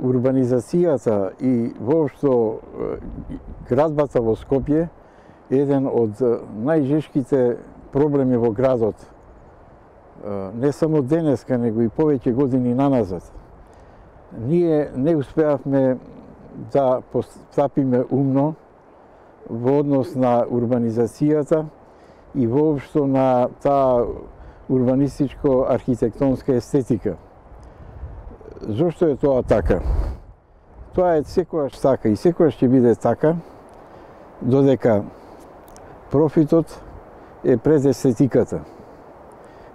урбанизацијата и воопшто градбата во Скопје е еден од најжешките проблеми во градот. Не само денеска, него и повеќе години наназад. Ние не успеавме да постапиме умно во однос на урбанизацијата и воопшто на таа урбанистичко-архитектонска естетика. Зошто е тоа така? Тоа е секогаш така и секогаш ќе биде така, додека профитот е пред естетиката.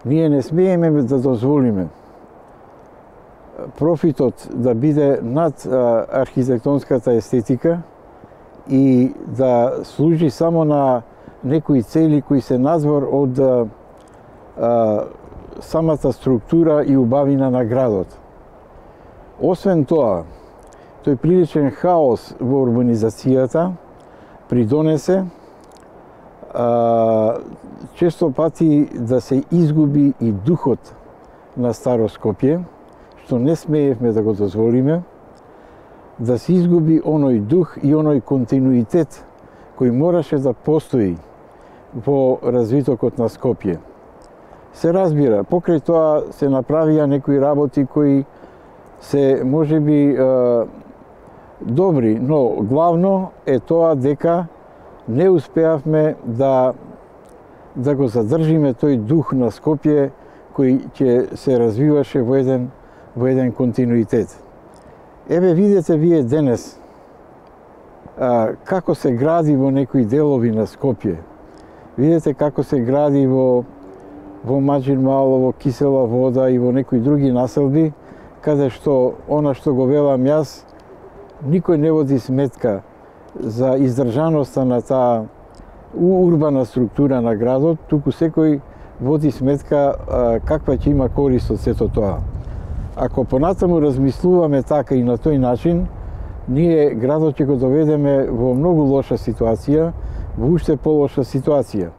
Ние не смееме да дозволиме профитот да биде над архитектонската естетика и да служи само на некои цели кои се надвор од самата структура и убавина на градот. Освен тоа, тој приличен хаос во урбанизацијата придонесе често пати да се изгуби и духот на Старо Скопје, што не смеевме да го дозволиме, да се изгуби оној дух и оној континуитет кој мораше да постои во развитокот на Скопје. Се разбира, покрај тоа се направија некои работи кои се можеби добри, но главно е тоа дека не успеавме да го задржиме тој дух на Скопје кој ќе се развиваше во еден континуитет. Еве видете вие денес како се гради во некои делови на Скопје. Видете како се гради во Маџин Мало, во Кисела Вода и во некои други населби, каде што она што го велам јас, никој не води сметка за издржаноста на таа урбана структура на градот, туку секој води сметка каква ќе има корист од сето тоа. Ако понатаму размислуваме така и на тој начин, ние градот ќе го доведеме во многу лоша ситуација, во уште полоша ситуација.